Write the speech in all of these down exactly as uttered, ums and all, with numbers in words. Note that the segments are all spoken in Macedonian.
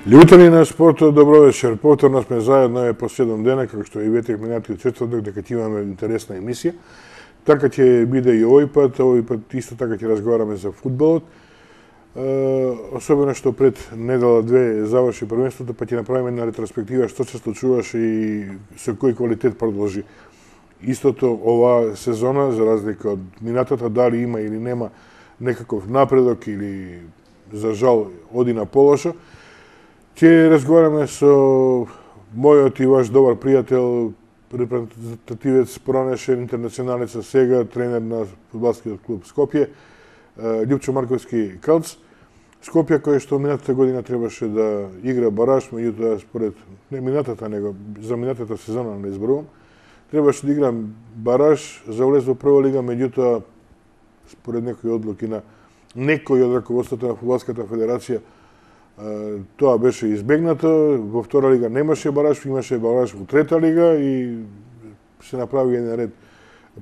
Љубители на спортот, добро вечер. Повторно сме заедно е по седум дена, како што и ветек минатиот четврток, дека ќе имаме интересна емисија. Така ќе биде и овој пат, овој пат исто така ќе разговараме за фудбалот. Особено што пред недела две заврши првенството, па ќе направиме една ретроспектива што се случуваше и со кој квалитет продолжи. Истото оваа сезона, за разлика од минатата, дали има или нема некаков напредок или за жал оди на полошо. Ќе разговараме со мојот и ваш добар пријател, репрезентативец, поранешен интернационалец, сега тренер на фудбалскиот клуб Скопје, Љупчо Марковски Калц. Скопје кој што минатата година требаше да игра бараж, меѓутоа според не минатата, него за минатата сезона не изборувам, требаше да игра бараж за влез во прва лига, меѓутоа според некои одлуки на некој од раководството на фудбалската федерација тоа беше избегнато. Во втора лига немаше бараж, имаше бараж во трета лига и се направи еден ред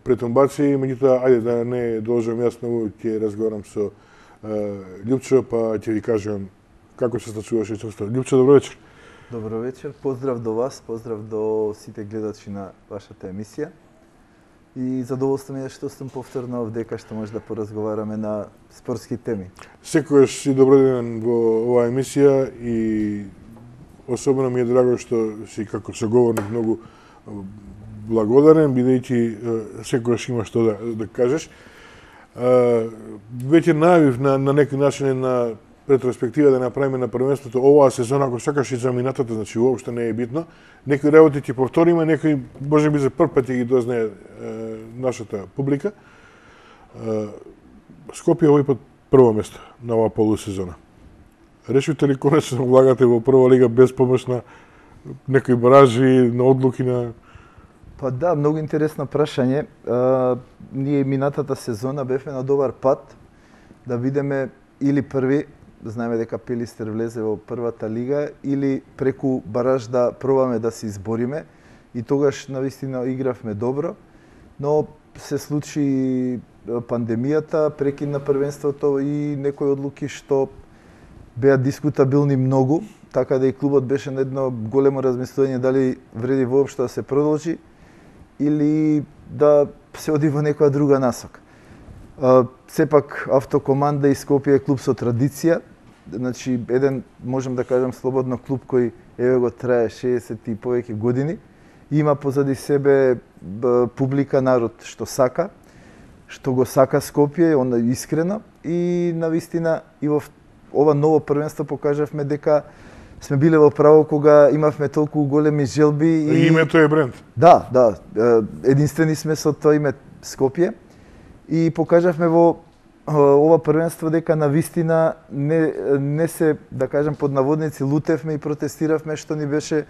претумбации. Меѓутоа, ајде да не должам јас многу, ќе разговарам со Љупчо, па ќе ви кажам како се случуваше често. Љупчо, добро вечер. Добро вечер, поздрав до вас, поздрав до сите гледачи на вашата емисија. И задоволство ми е што сум повторно овдека, што може да поразговараме на спортски теми. Секогаш си доброден во оваа емисија и особено ми е драго што си како соговорник многу благодарен, бидејќи секогаш има што да, да кажеш. Веќе најавив на, на некој начин на ретроспектива да направиме на првенството оваа сезона, ако сакаш и за минатата, значи уопште не е битно. Некои работи ќе повториме, некои може би за прв пат ќе ги дознае е, нашата публика. Е, Скопје овој пат прво место на оваа полусезона. Решите ли конечно влагате во прва лига без помош на некои баражи, на одлуки на... Па да, многу интересно прашање. А, ние минатата сезона бевме на добар пат да видиме или први, знаеме дека Пилистер влезе во првата лига, или преку бараж да пробаме да се избориме. И тогаш навистина игравме добро, но се случи пандемијата, прекина првенството и некои одлуки што беа дискутабилни многу, така да и клубот беше на едно големо размислување дали вреди воопшто да се продолжи или да се оди во некоја друга насока. Uh, сепак Автокоманда и Скопје е клуб со традиција, значи еден, можем да кажам слободно, клуб кој еве го трае шеесет и повеќе години, има позади себе б, публика, народ што сака, што го сака Скопје, он искрено, и навистина и во ова ново првенство покажавме дека сме биле во право кога имавме толку големи желби и името е бренд. Да, да, единствени сме со тоа име Скопје. И покажавме во ова првенство дека навистина не, не се, да кажам под наводници, лутевме и протестиравме што ни беше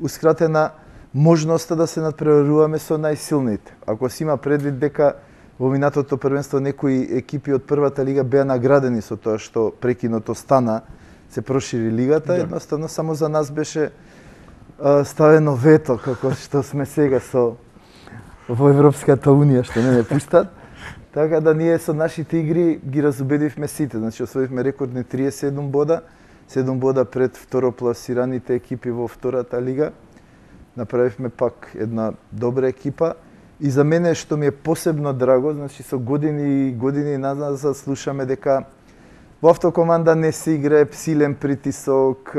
ускратена можноста да се надпреваруваме со најсилните. Ако се има предвид дека во минатото првенство некои екипи од првата лига беа наградени со тоа што прекиното стана, се прошири лигата, да. Едноставно само за нас беше а, ставено вето, како што сме сега со во Европската унија, што не не пуштат. Така да ние со нашите игри ги разубедивме сите. Значи освоивме рекордни триесет и седум бода, седум бода пред второпласираните екипи во втората лига. Направивме пак една добра екипа и за мене што ми е посебно драго, значи со години и години назад слушаме дека во Автокоманда не се играе силен притисок,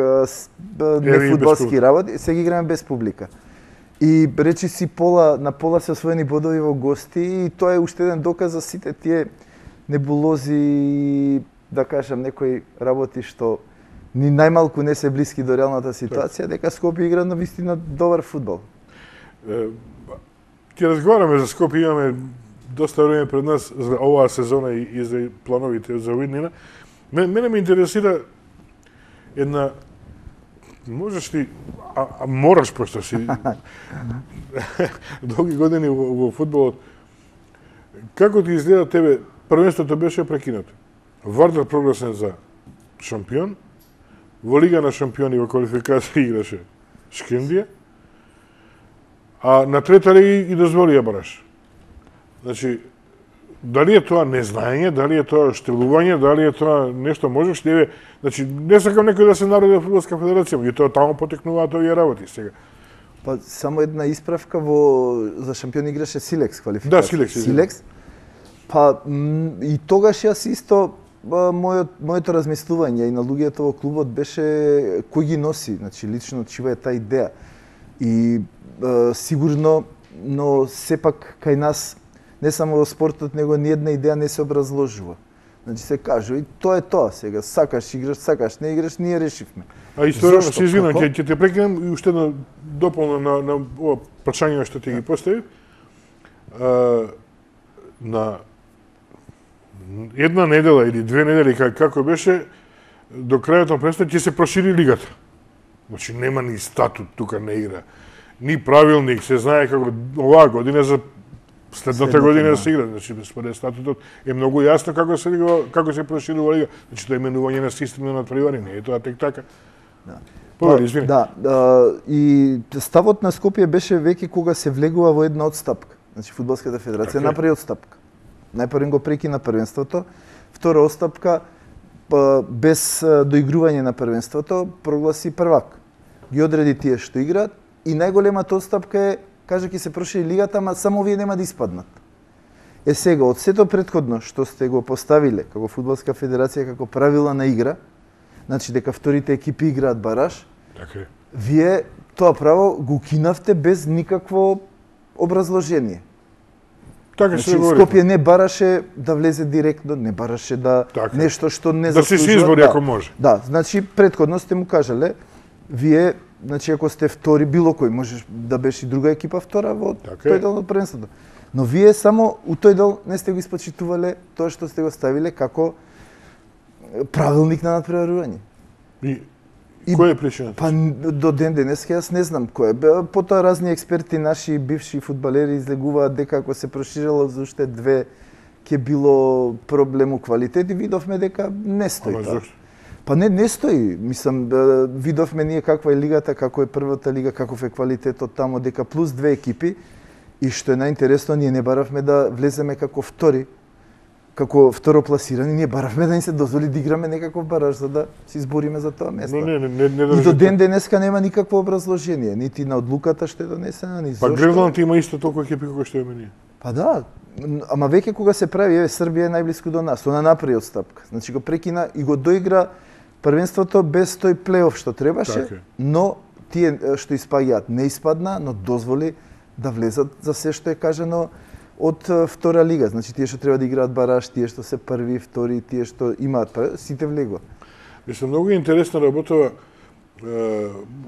не фудбалски работи, се ги играме без публика. И речи си пола, на пола се освоени бодови во гости и тоа е уште еден доказ за сите тие небулози, да кажам, некои работи што ни најмалку не се блиски до реалната ситуација, дека Скопје игра на вистина добар фудбал. Ќе разговараме за Скопје, имаме доста време пред нас за оваа сезона и, и за плановите за виднина. Мене ме интересира една, можеш ли, а, а мораш, пошто си долги години во, во фудбалот, како ти изгледа тебе, првенството беше прекинато. Вардар прогласен за шампион, во Лига на шампиони во квалификација играше Шкендија, а на трета лига и дозволи ја бараш. Значи, дали е тоа незнаење, дали е тоа штелување, дали е тоа нешто можеш ли е, значи не сакам некој да се народи во Фудбалска федерација, и тоа таму потекнуваат овие работи сега. Па само една исправка, во за шампион играше Силекс квалификација. Да, Силекс. Силекс. Па и тогаш јас исто мојот моето размислување и на луѓето во клубот беше кој ги носи, значи лично чива е таа идеја. И е, сигурно, но сепак кај нас не само во спортот, него ни една идеја не се образложува. Значи се кажува и тоа е тоа сега, сакаш играш, сакаш не играш, ние решивме. А историја, се извинам, ќе ќе те прекинам и уште едно дополна на на ова прашање што ти ги поставив. А, на една недела или две недели како беше до крајот на престап ќе се прошири лигата. Значи нема ни статут тука не игра. Ни правилник, се знае како оваа година за следната година да се игра. Значи според статутот е многу јасно како се лига, како се проширува лига. Значи тоа е именување на систем на натпревари, не е тоа тек така. Да. Повели, извини. Да, да, и ставот на Скопје беше веќе кога се влегува во една одстапка. Значи Фудбалската федерација okay. направи одстапка. Најпрво го прекина првенството, втора одстапка без доигрување на првенството прогласи првак. Ги одреди тие што играат и најголемата одстапка е кажа ќе се прошири лигата, ама само овие нема да испаднат. Е сега од сето претходно што сте го поставиле како Фудбалска федерација како правила на игра, значи дека вторите екипи играат бараж, така е. Вие тоа право го кинавте без никакво образложение. Така значи, се говори. Скопје не бараше да влезе директно, не бараше да така. Нешто што не да заслужува. Да се избори да. Ако може. Да, значи претходно сте му кажале, вие, значи ако сте втори, било кој можеш да беше и друга екипа втора во така тој дел од првенството. Но вие само у тој дел не сте го испочитувале тоа што сте го ставиле како правилник на натпреварување. И И кој е причината? Па до ден денеска јас не знам кој е. Потоа разни експерти, наши бивши фудбалери излегуваат дека ако се проширало за уште две ќе било проблем у квалитет и видовме дека не стои тоа. Па не не стои. Мислам видовме ние каква е лигата, како е првата лига, каков е квалитетот тамо, дека плюс две екипи и што е најинтересно ние не баравме да влеземе како втори, како второпласирани, ние баравме да ни се дозволи да играме некаков бараж за да се избориме за тоа место. Но не, не, не, не и до ден денеска нема никакво образложение, нити на одлуката што е донесена, ни зошто. Па Гренланд има исто толку екипи како што имаме ние. Па да, ама веќе кога се прави, еве Србија е најблиску до нас, она направи одстапка. Значи го прекина и го доигра првенството без тој плейоф што требаше, така. Но тие што испаѓаат не испадна, но дозволи да влезат за се што е кажано од втора лига. Значи тие што треба да играат бараж, тие што се први, втори, тие што имаат, сите влегува. Мислам многу интересна работа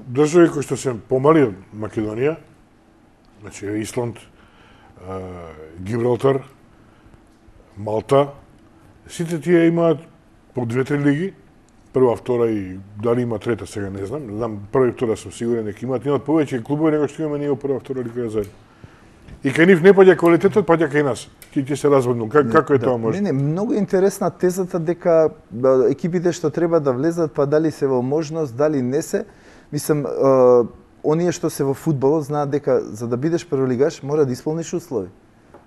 држави кои што се помали од Македонија, значи Исланд, Гибралтар, Малта, сите тие имаат по две-три лиги, прва, втора и дали има трета сега не знам, знам прва и втора сум сигурен дека имаат, имаат повеќе клубови него што имаме ние во прва, втора лига заедно. И кај нив не паѓа квалитетот, паѓа кај нас. Ти ќе се разводнул. Как, како е да, тоа може? Не, не, многу интересна тезата дека да, екипите што треба да влезат, па дали се во можност, дали не се. Мислам, е, оние што се во фудбалот знаат дека за да бидеш прволигаш мора да исполниш услови.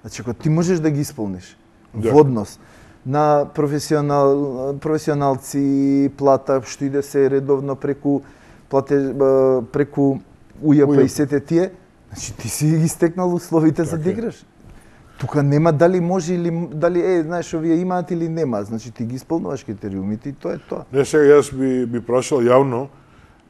Значи, ако ти можеш да ги исполниш да. Во однос на професионал, професионалци, плата, што иде се редовно преку плате, преку УЈП и сете тие, значи ти си ги стекнал условите так за да играш. Тука нема дали може или дали е, знаеш, овие имаат или нема, значи ти ги исполнуваш критериумите и тоа е тоа. Не, сега јас би би прашал јавно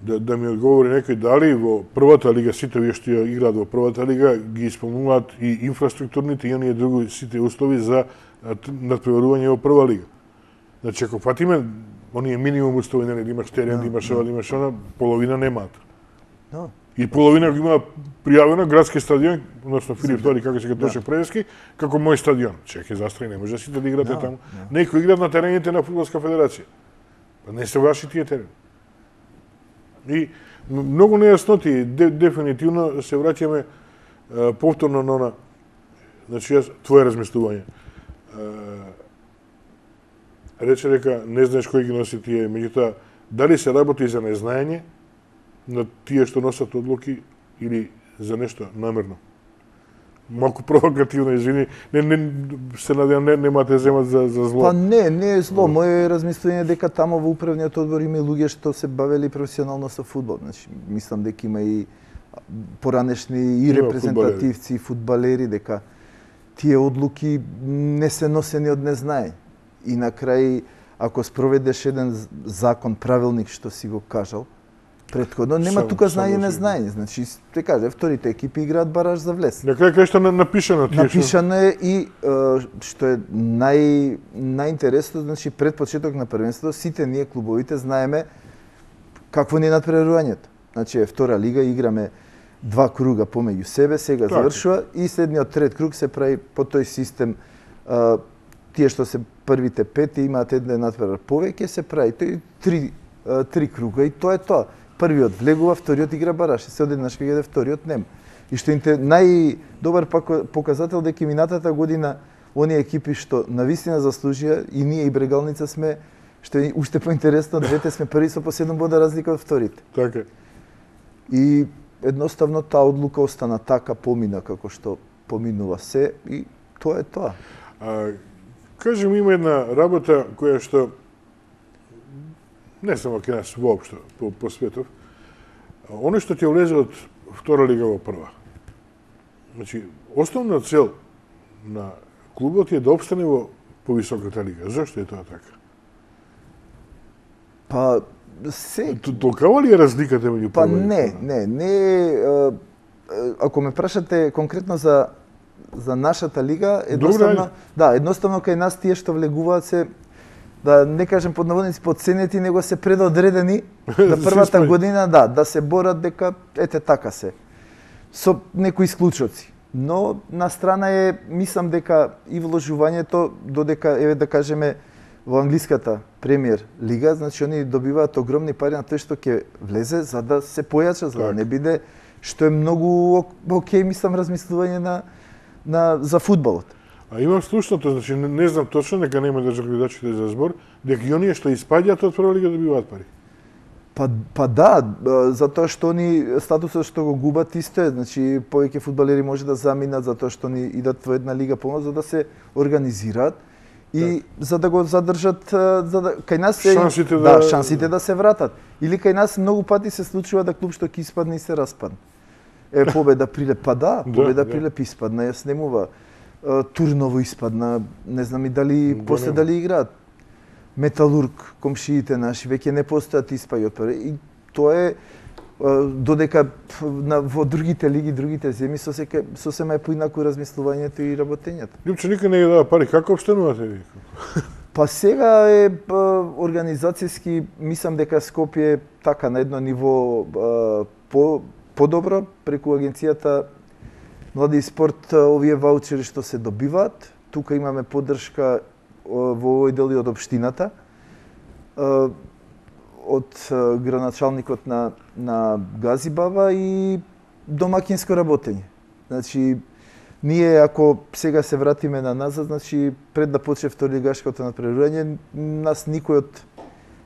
да да ми одговори некој дали во првата лига сите овие што играат во првата лига ги исполнуваат и инфраструктурните и оние други сите услови за надпреварување во прва лига. Значи ако фатиме оние минимум услови, нели, да имаш терен, да имаш ова, да имаш она, половина немаат. Да. И половина го има пријавено градски стадион, односно Филип Втори, како се Тоше Превески, како мој стадион. Чеќе застрои, не може сите да играте да, таму. Да. Некои играат на терените на Фудбалска федерација. Не се ваши тие терени. И многу нејасноти, де, дефинитивно се враќаме е, повторно на она, значи јас, твое размислување. Е, рече дека не знаеш кој ги носи тие, меѓутоа, дали се работи за незнаење на тие што носат одлуки или за нешто намерно? малку провокативно, извини, не, не, се надевам, не, нема те земат за, за зло. Па не, не е зло. Моје размислување е дека тамо во управниот одбор има и луѓе што се бавели професионално со фудбал. Значи, мислам дека има и поранешни и репрезентативци, и фудбалери, дека тие одлуки не се носени од незнаење. И на крај, ако спроведеш еден закон, правилник што си го кажал, претходно нема Сам, тука знаење само незнаење. Значи, те каже, вторите екипи играат бараж за влез. На крај кај што напишано тие. Напишано е и е, што е нај најинтересно, значи пред почеток на првенството сите ние клубовите знаеме какво ни е надпреварувањето. Значи е втора лига, играме два круга помеѓу себе, сега така завршува и следниот трет круг се прави по тој систем. Е, тие што се првите пет имаат еден надпревар повеќе, се прави тој три е, три круга и тоа е тоа. Првиот влегува, вториот игра бараш, и се одеднаш кај вториот нема. И што е најдобар показател дека минатата година оние екипи што навистина заслужија и ние и Брегалница сме, што е уште поинтересно, двете сме први со по седум бода разлика од вторите. Така. И едноставно таа одлука остана така, помина како што поминува се и тоа е тоа. А, кажем, има една работа која што не само кај нас воопшто по, по светов, оно што ќе влезе од втора лига во прва. Значи, основна цел на клубот е да опстане во повисоката лига. Зошто е тоа така? Па се Толкава ли е разликата меѓу Па прва и не, втора? не, не, ако ме прашате конкретно за за нашата лига, едноставно, да, едноставно кај нас тие што влегуваат се, да не кажем под наводници подценети, него се предодредени да првата година, да, да се борат дека ете така се. Со некои исклучоци. Но на страна е, мислам дека и вложувањето додека еве да кажеме во англиската премиер лига, значи они добиваат огромни пари на тој што ќе влезе за да се појача, за да не биде, што е многу окей, мислам, размислување на на за фудбалот. А имам слушното, значи не, не знам точно, нека нема да гледачите за збор, дека и оние што испаѓаат од прва лига добиваат пари. Па, па да, затоа што они статусот што го губат исто е, значи повеќе фудбалери може да заминат затоа што они идат во една лига помал за да се организираат и так. за да го задржат, за да кај нас се шансите да, да шансите да се вратат. Или кај нас многу пати се случува да клуб што ќе испадне и се распадне. Е Победа Прилеп, па да, Победа да, Прилеп испадна, ја снемува. Турново испадна, не знам и дали Го после нема. дали играат. Металург, комшиите наши веќе не постојат испаѓа од пари. И тоа е додека на во другите лиги, другите земји сосека сосема е поинаку размислувањето и работењето. Лјупче никој не ги дава пари, како обстанувате ви? Па сега е па, организацијски, мислам дека Скопје е така на едно ниво а, по подобро преку агенцијата Млади и спорт, овие ваучери што се добиваат. Тука имаме поддршка во овој дел и од општината, од градоначалникот на на Газибава и домакинско работење. Значи ние ако сега се вратиме на назад, значи пред да почне второлигашкото надпреварување, нас никој од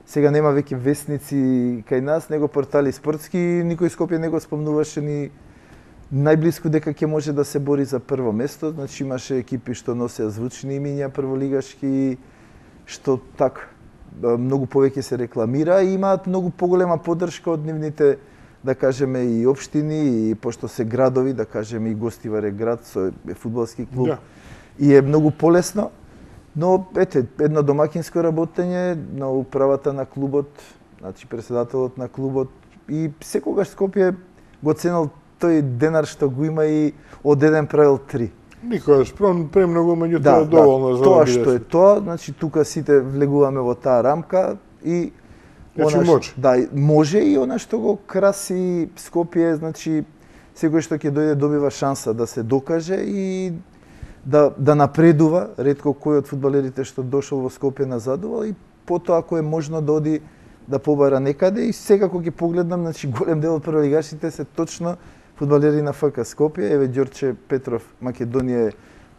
сега нема веќе весници кај нас, него портали спортски, никој Скопје не го спомнуваше ни најблиску дека ќе може да се бори за прво место. Значи имаше екипи што носеа звучни имиња прволигашки, што така многу повеќе се рекламира и имаат многу поголема поддршка од нивните, да кажеме, и општини, и пошто се градови, да кажеме, и Гостивар е град со е фудбалски клуб. Да. И е многу полесно. Но ете, едно домакинско работење на управата на клубот, значи председателот на клубот и секогаш Скопје го ценел тој денар што го има и од еден правил три. Никогаш, премногу, меѓутоа да, доволно да, за тоа да што е тоа, значи тука сите влегуваме во таа рамка и значи она, може. Да, може и она што го краси Скопје, значи секој што ќе дојде добива шанса да се докаже и да да напредува, ретко кој од фудбалерите што дошол во Скопје назадувал и потоа ако е можно да оди да побара некаде и сега кога ќе погледнам, значи голем дел од прволигашите се точно фудбалери на ФК Скопје, еве Ѓорче Петров, Македонија е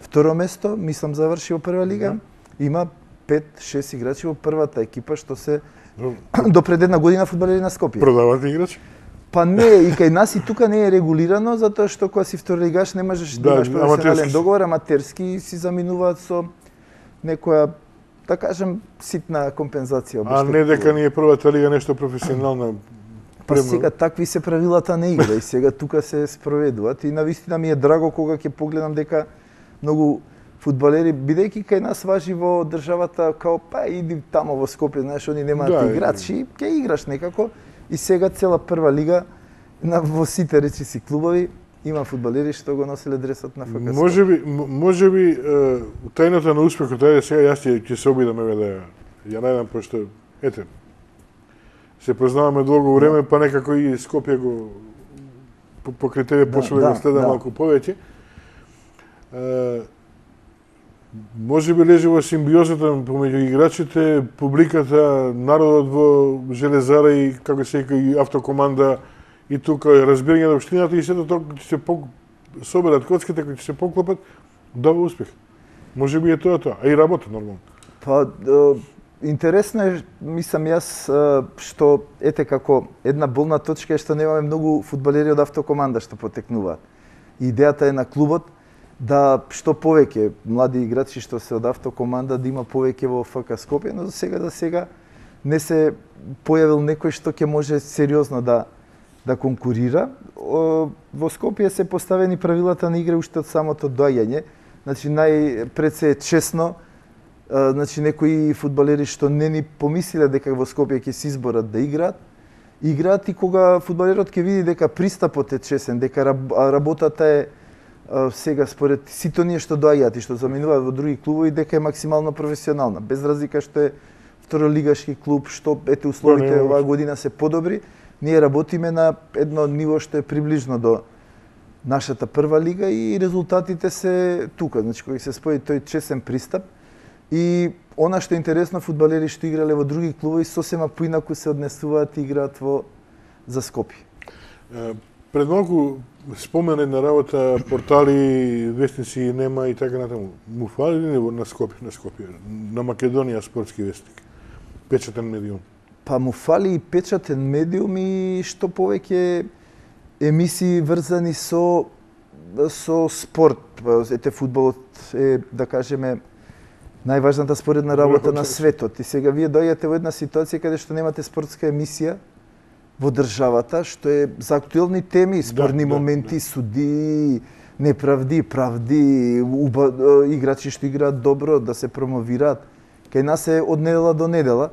второ место, мислам заврши во прва лига. Да. Има пет шест играчи во првата екипа што се до пред една година фудбалери на Скопје. Продавате играчи? Па не, и кај нас и тука не е регулирано, затоа што кога си второлигаш не можеш да, да имаш професионален договор, аматерски си заминуваат со некоја, да кажем, ситна компензација. А не дека ни е првата лига нешто професионална. Па сега такви се правилата на игра и сега тука се спроведуваат и навистина ми е драго кога ќе погледам дека многу фудбалери, бидејќи кај нас важи во државата као па иди тамо во Скопје, знаеш, они немаат да, играчи, ќе играш некако и сега цела прва лига на во сите речи си клубови има фудбалери што го носеле дресот на ФК. Можеби можеби тајната на успехот, ајде сега јас ќе се обидам еве да ја најдам, пошто ете се познаваме долго време, па некако и Скопје го покрај тебе почнува да го следам да. малку повеќе. Може би лежи во симбиозата помеѓу играчите, публиката, народот во Железара и како се вика и автокоманда и тука разбирање на општината и сето тоа ќе се по соберат коцките, кои ќе се поклопат, дава успех. Може би е тоа тоа, а и работа нормално. Па интересно е, мислам јас, што ете како една болна точка е што немаме многу фудбалери од автокоманда што потекнуваат. Идејата е на клубот да што повеќе млади играчи што се од автокоманда да има повеќе во ФК Скопје, но за сега за сега не се појавил некој што ќе може сериозно да да конкурира. Во Скопје се поставени правилата на игра уште од самото доаѓање. Значи најпред се е честно, значи некои фудбалери што не ни помислиле дека во Скопје ќе се изборат да играат, играат и кога фудбалерот ќе види дека пристапот е честен, дека работата е сега според сите оние што доаѓаат и што заминуваат во други клубови, дека е максимално професионална, без разлика што е второлигашки клуб, што ете условите оваа година се подобри, ние работиме на едно ниво што е приближно до нашата прва лига и резултатите се тука, значи кога се спои тој честен пристап и она што е интересно, фудбалери што играле во други клубови сосема поинаку се однесуваат и играат во за Скопје. Пред малку спомене на работа портали, вестници нема и така натаму. Му фали ли на Скопје, на Скопје, на Македонија спортски вестник, печатен медиум? Па му фали и печатен медиум и што повеќе емисии врзани со со спорт. Ете фудбалот е, да кажеме, најважната споредна работа на светот. И сега вие доаѓате во една ситуација каде што немате спортска емисија во државата, што е за актуелни теми, спорни да, моменти, да, да. суди, неправди, правди, уба, играчи што играат добро, да се промовираат. Кај нас е од недела до недела.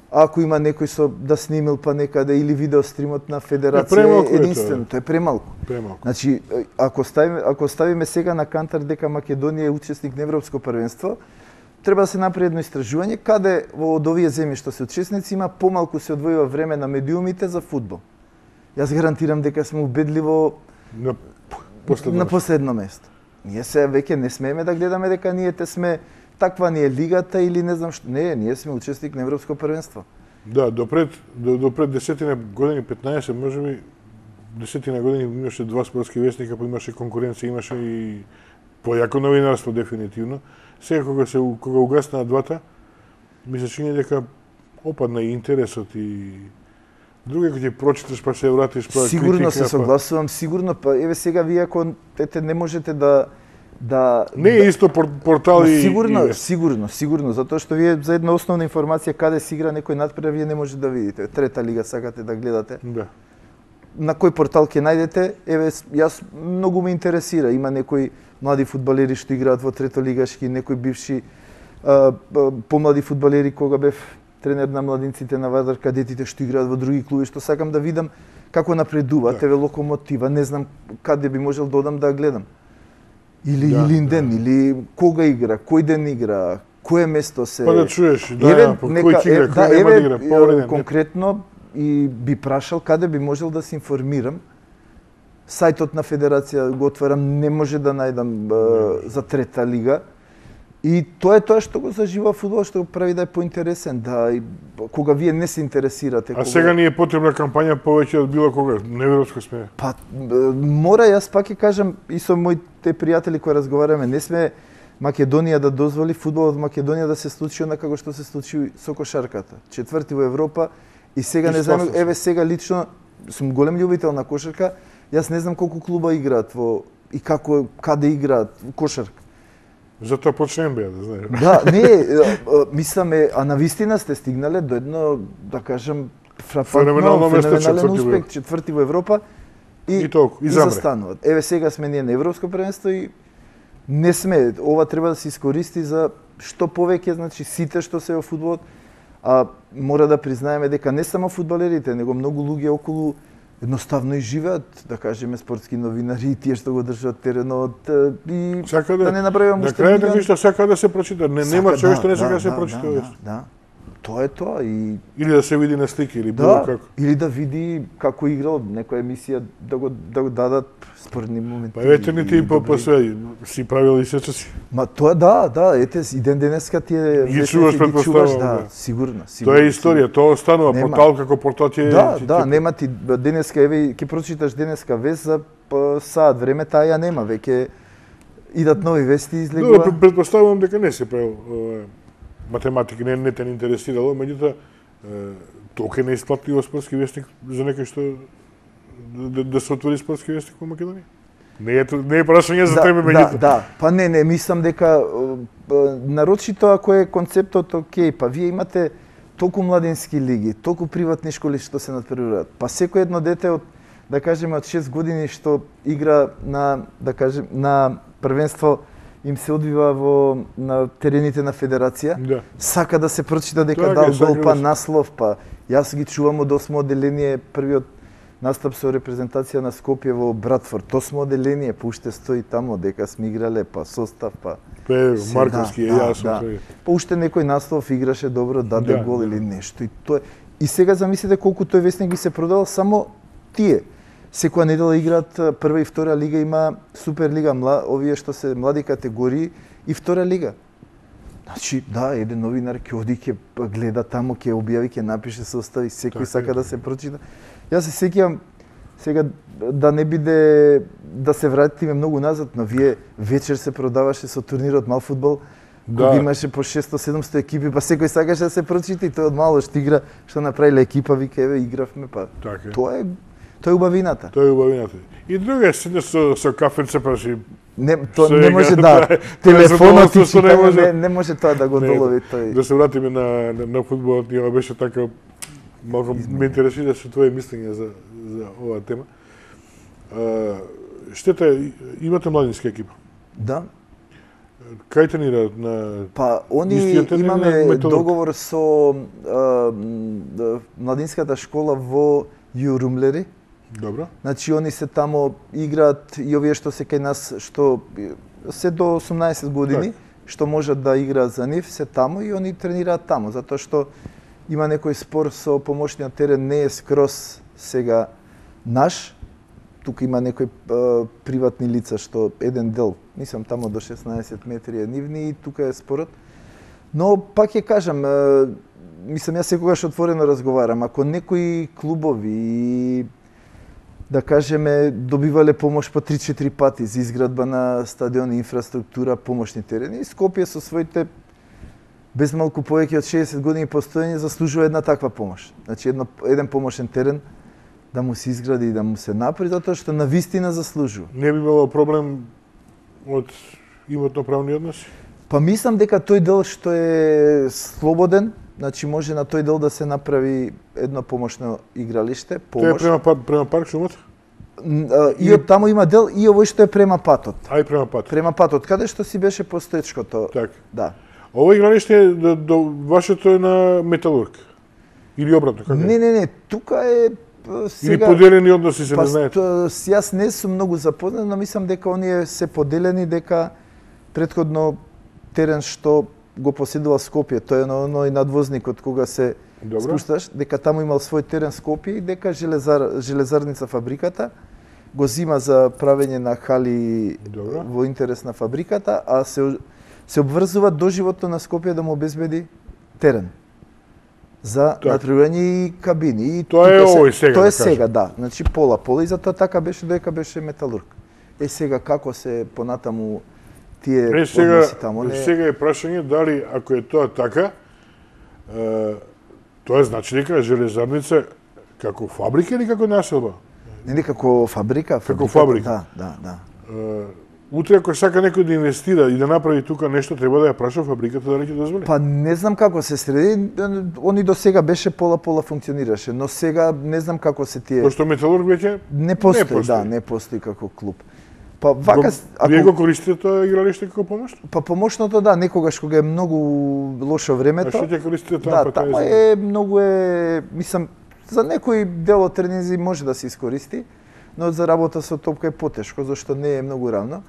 Ако има некој со да снимил па некаде или видео стримот на федерација, е единствено, тоа е премалку. Премалку. Значи, ако ставиме, ако ставиме сега на кантар дека Македонија е учесник на Европско првенство, треба да се направи едно истражување каде во од овие земји што се учесници има помалку се одвојува време на медиумите за фудбал. Јас гарантирам дека сме убедливо на последно, на последно место. Ние се веќе не смееме да гледаме дека ние те сме таква ни е лигата или не знам што. Не, ние сме учесник на Европско првенство. Да, допред до, допред десетина години, петнаесет, можеби десетина години имаше два спортски вестника, па имаше конкуренција, имаше и појако новинарство дефинитивно. Сега кога се кога угаснаа двата, ми се чини дека опадна и интересот и други кои ќе прочиташ па се вратиш па сигурно се согласувам, сигурно па еве сега вие ако ете не можете да да не е исто портал и сигурно, и сигурно, сигурно, затоа што вие за една основна информација каде се игра некој надпревар вие не можете да видите. Трета лига сакате да гледате. Да. На кој портал ќе најдете? Еве јас многу ме интересира, има некои млади фудбалери што играат во третолигашки, некои бивши а, помлади фудбалери кога бев тренер на младинците на Вардар кадетите што играат во други клуби, што сакам да видам како напредуваат, да. Еве Локомотива, не знам каде би можел да одам да гледам. Или да, Илинден, да. Или кога игра, кој ден игра, кое место се... Па да чуеш, да, еве, по нека, кој ќе игра, да, кој нема еве, да игра, повреден. Конкретно и би прашал каде би можел да се информирам. Сајтот на федерација го отварам, не може да најдам uh, за трета лига. И тоа е тоа што го зажива фудбал, што го прави да е поинтересен, да и кога вие не се интересирате. А кога... сега ни е потребна кампања повеќе од било кога, неверојатно сме. Па мора, јас пак ќе кажам и со моите пријатели кои разговараме, не сме Македонија да дозволи фудбалот во Македонија да се случи онака како што се случи со кошарката. Четврти во Европа и сега не знам, еве сега лично сум голем љубител на кошарка. Јас не знам колку клуба играат во и како каде играат кошарка. Затоа почне Н Б А, да знаеш. Да, не, мисламе, а на вистина сте стигнале до едно, да кажем, фрапантно, феноменален успех, четврти во Европа и, и, толку, и, и застануват. Еве сега сме ние на Европско првенство и не сме, ова треба да се искористи за што повеќе, значи сите што се во фудбалот, а мора да признаеме дека не само фудбалерите, него многу луѓе околу едноставно и живеат, да кажеме, спортски новинари, тие што го држат теренот и сака да, да не направиме уште на крајот ништо сака да се прочита, не нема човек што не сака да се да, прочита. Да, да, да. Тоа е тоа и или да се види на слики или било да, како. Или да види како играл некоја емисија, да го да го дадат спорни моменти. Па ветерните и по све си правил и сечаци. Ма тоа да, да, ете и ден денеска ти е ги чуваш предпоставувам. Да, да, сигурно, сигурно. Тоа е историја, тоа останува портал како портал ти е. Да, да, нема ти денеска еве ќе прочиташ денеска вест за саат време, таа ја нема, веќе идат нови вести излегува. Да, предпоставувам дека не се правил математика, не, не те не интересирало, меѓутоа толку не исплатливо спортски вестник за некој што да, да се отвори спортски вестник во Македонија. Не е не е прашање за тебе меѓутоа. Да, да, па не, не, мислам дека нарочито ако е концептот окей, па вие имате толку младински лиги, толку приватни школи што се надпреваруваат. Па секој едно дете од, да кажеме, од шест години што игра на, да кажем, на првенство им се одвива во на терените на федерација, да, сака да се прочита дека Тоа дал е, гол, па да. наслов, па јас ги чувам од осмо оделение, првиот настап со репрезентација на Скопје во Братфорд, осмо оделение, па уште стои тамо дека сме играле, па состав, па Пе Марковски е да, јасно да. тој. Па уште некој наслов играше добро, даде Да, гол да. или нешто и тоа. И сега замислете колку тој вестник би се продал само тие. Секоја недела играат прва и втора лига, има Суперлига, мла, овие што се млади категории и втора лига. Значи, да, еден новинар ќе оди, ќе гледа тамо, ќе објави, ќе напише состави, секој Така сака е. да се прочита. Јас се сеќавам сега да не биде да се вратиме многу назад, но вие вечер се продаваше со турнирот мал фудбал, Да. кога имаше по шесто-седумсто екипи, па секој сакаше да се прочита и тој од мало што игра, што направиле екипа, вика еве игравме, па Така е. тоа е тоа е убавината. Тоа е убавината. И друга е седнеш со со кафенце па си Не, тоа Сега, не може да, да, тоа е телефонот и задоволство, не читање, може. не, не може тоа да го Не, долови тој. да се вратиме на на, на фудбалот, ние беше така малку ме интересира со твое мислење за за оваа тема. А, штета е, имате младинска екипа. Да. Кај тренираат на Па, они Истиот тренер на имаме Металург. договор со а, м, младинската школа во Јурумлери. Добро? Значи, они се тамо играат и овие што се кај нас, што се до осумнаесет години, што можат да играат за нив, се тамо и они тренираат тамо, затоа што има некој спор со помошниот терен, не е скроз сега наш, тука има некои а, приватни лица што еден дел, мислам тамо до шеснаесет метри е нивни и тука е спорот. Но пак ќе кажам, а, мислам јас секогаш отворено разговарам, ако некои клубови и да кажеме добивале помош по три-четири пати за изградба на стадиони, инфраструктура, помошни терени, Скопје со своите без малку повеќе од шеесет години постоење заслужува една таква помош. Значи едно, еден помошен терен да му се изгради и да му се направи, затоа што на вистина заслужува. Не би имало проблем од имотно-правни односи? Па мислам дека тој дел што е слободен, значи може на тој дел да се направи едно помошно игралиште, Тоа е помош. према пат, према парк шумот? Н- а, И од таму има дел и овој што е према патот. Ај према пат. Према патот, каде што си беше постоечкото. Така. Да. Ова игралиште е до, до вашето е на Металург. Или обратно, како? Не, не, не, тука е п, Или сега поделени односи се па, не знаете. ст- с- јас не сум многу запознат, но мислам дека оние се поделени, дека претходно терен што го поседува Скопје, тој е на оној надвозникот кога се Добро. спушташ, дека таму имал свој терен Скопје и дека железар, железарница фабриката го зима за правење на хали Добро. во интерес на фабриката, а се се обврзува доживотно на Скопје да му обезбеди терен за Така. натпреварање и кабини. И Тоа е тука се- овој сега, Тоа да е кажем. сега, да. Значи пола пола и затоа така беше додека беше Металург. Е сега како се понатаму тие Е, сега, односи таму не сега е прашање дали ако е тоа така, е, тоа значи дека железарница Како фабрика или како населба? Не, како фабрика. Како фабрика? Да, да, да. Утре ако сака некој да инвестира и да направи тука нешто, треба да ја праша фабриката дали ќе дозволи. Па не знам како се среди, они до сега беше пола-пола функционираше, но сега не знам како се тие. Пошто Металург веќе не постои, не постои. Да, не постои како клуб. Па вака ако вие го користите тоа игралиште како помош? Па помошното да, некогаш кога е многу лошо времето. А што ќе користите таму? Да, таму е многу е, мислам, за некој дел од тренинзи може да се искористи, но за работа со топка е потешко, зашто не е многу равно.